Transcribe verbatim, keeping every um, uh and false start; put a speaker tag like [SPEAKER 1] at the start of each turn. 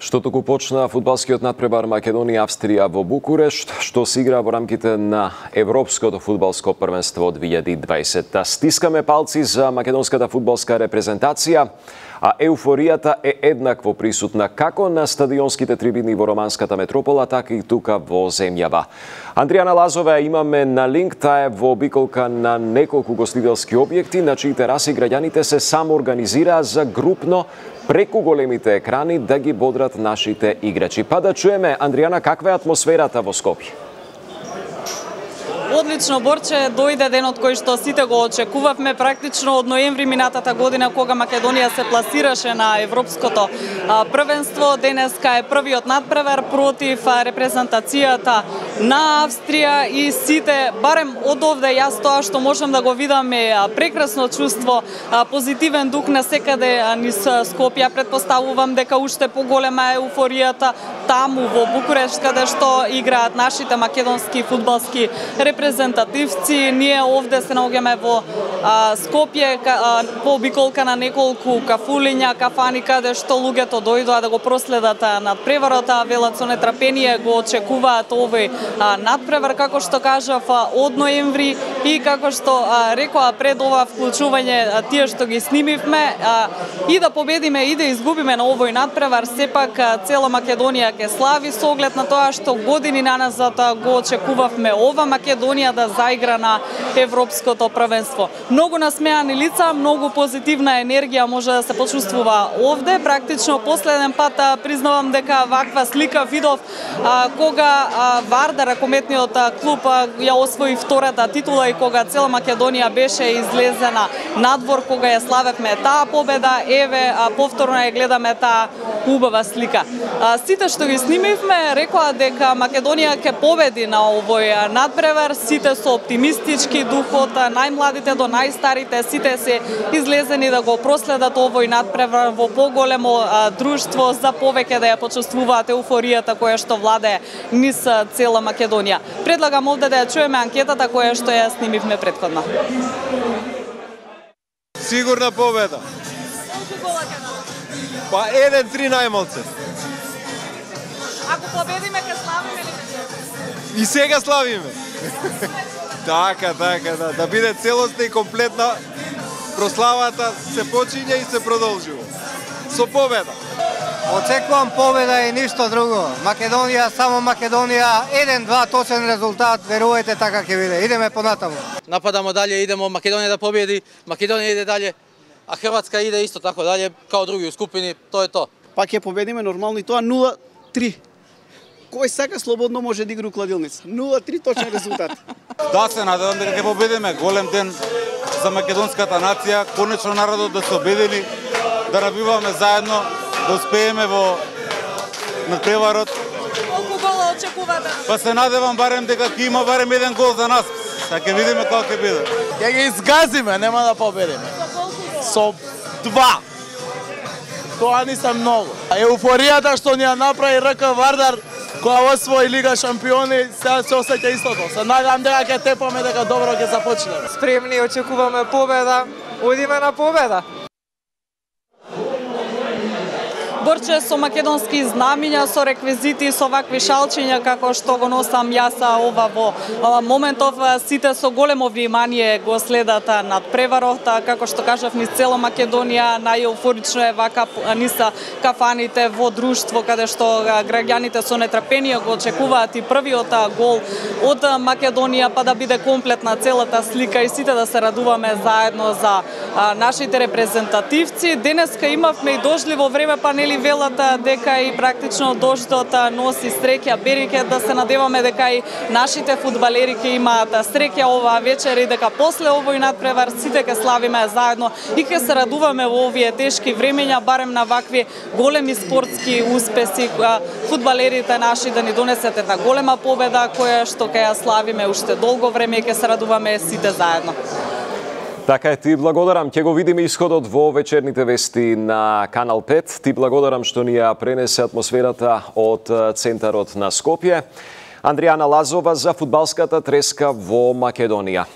[SPEAKER 1] Што току почна фудбалскиот надпревар Македонија-Австрија во Букурешт, што се игра во рамките на Европското фудбалско првенство две илјади и дваесетта. Стискаме палци за македонската фудбалска репрезентација, а еуфоријата е еднакво присутна како на стадионските трибини во романската метропола, така и тука во земјава. Андријана Лазова имаме на линк, таа е во обиколка на неколку гостителски објекти, на чии тераси граѓаните се самоорганизираа за групно преку големите екрани да ги бодрат нашите играчи. Па да чуеме, Андријана, каква е атмосферата во Скопје?
[SPEAKER 2] Одлично, Борче, дојде денот кој што сите го очекувавме практично од ноември минатата година, кога Македонија се пласираше на Европското првенство. Денеска е првиот надпревар против репрезентацијата на Австрија и сите, барем од овде јас тоа што можам да го видам е прекрасно чувство, позитивен дух на секаде низ Скопје. Претпоставувам дека уште поголема е еуфоријата таму во Букурешт, каде што играат нашите македонски фудбалски репрезентативци. Ние овде се наоѓаме во а, Скопје а, по обиколка на неколку кафулиња, кафани, каде што луѓето дојдоа да го проследат надпреварот, велат со нетрпение го очекуваат овој а, надпревар, како што кажав, од ноември и како што а, рекоа пред ова вклучување а, тие што ги снимивме, а, и да победиме и да изгубиме на овој надпревар, сепак а, цела Македонија ќе слави со оглед на тоа што години наназад го очекувавме ова Македонија да заигра на Европското првенство. Многу насмеани лица, многу позитивна енергија може да се почувствува овде. Практично последен пат а, признавам дека ваква слика видов а, кога а, Вардар, ракометниот клуб, а, ја освои втората титула и кога цела Македонија беше излезена надвор, кога ја славевме таа победа. Еве, а, повторно ја гледаме таа убава слика. А, сите што ги снимивме рекоа дека Македонија ќе победи на овој надпревар. Сите со оптимистички духот, најмладите до најстарите, сите се излезени да го проследат овој надпревар во поголемо а, друштво, за повеќе да ја почувствуваат еуфоријата која што владее низ цела Македонија. Предлагам овде да ја чуеме анкетата која што ја снимивме претходно.
[SPEAKER 3] Сигурна победа.
[SPEAKER 2] Колку гола ќе дадат?
[SPEAKER 3] Па еден три најмалце.
[SPEAKER 2] Ако победиме ќе славиме или?
[SPEAKER 3] И сега славиме. Така, така, да, да биде целосна и комплетна прославата, се почиња и се продолжува. Со победа.
[SPEAKER 4] Очекувам победа и ништо друго. Македонија, само Македонија, еден-два точен резултат, верувајте, така ќе биде. Идеме понатаму.
[SPEAKER 5] Нападамо дале, идемо Македонија да победи, Македонија иде дале, а Хрватска иде исто така дале, као други скупини, тоа е тоа.
[SPEAKER 6] Пак ќе победиме нормално и тоа нула три. Кој сака слободно може да игра у кладилница. нула три точен резултат.
[SPEAKER 7] Да, се надевам дека ќе победиме. Голем ден за македонската нација. Конечно народот да се обедини, да набиваме заедно, да успееме во надпреварот.
[SPEAKER 2] Колку гола очекувате?
[SPEAKER 7] Па се надевам барем дека ќе има барем еден гол за нас. Сега ќе видиме како ќе биде.
[SPEAKER 8] Ќе ги изгазиме, нема да победиме.
[SPEAKER 2] Со колку гола?
[SPEAKER 8] Со два. Тоа не се многу. Еуфоријата што ни ја направи РК Вардар која освои Лига шампиони, сега се осеќа истото. Се надевам дека ќе тепаме, дека добро ќе започнеме.
[SPEAKER 9] Спремни, очекуваме победа. Одиме на победа.
[SPEAKER 2] Борче, со македонски знамиња, со реквизити, со вакви шалчиња како што го носам јас ова во моментов, сите со големо внимание го следат надпреварот, како што кажав, низ цела Македонија, најеуфорично е вака низ кафаните во друштво, каде што граѓаните со нетрпение го очекуваат и првиот гол од Македонија, па да биде комплетна целата слика и сите да се радуваме заедно за нашите репрезентативци. Денеска имавме и дожливо време, па нели велат дека и практично дождот носи среќа, береке, да се надеваме дека и нашите фудбалери ќе имаат среќа оваа вечер и дека после овој надпревар сите ќе славиме заедно и ќе се радуваме во овие тешки времења, барем на вакви големи спортски успеси, фудбалерите наши да ни донесат една голема победа која што ќе ја славиме уште долго време и ќе се радуваме сите заедно.
[SPEAKER 1] Така е, ти благодарам. Ќе го видиме исходот во вечерните вести на Канал пет. Ти благодарам што ни ја пренесе атмосферата од центарот на Скопје. Андријана Лазова за фудбалската треска во Македонија.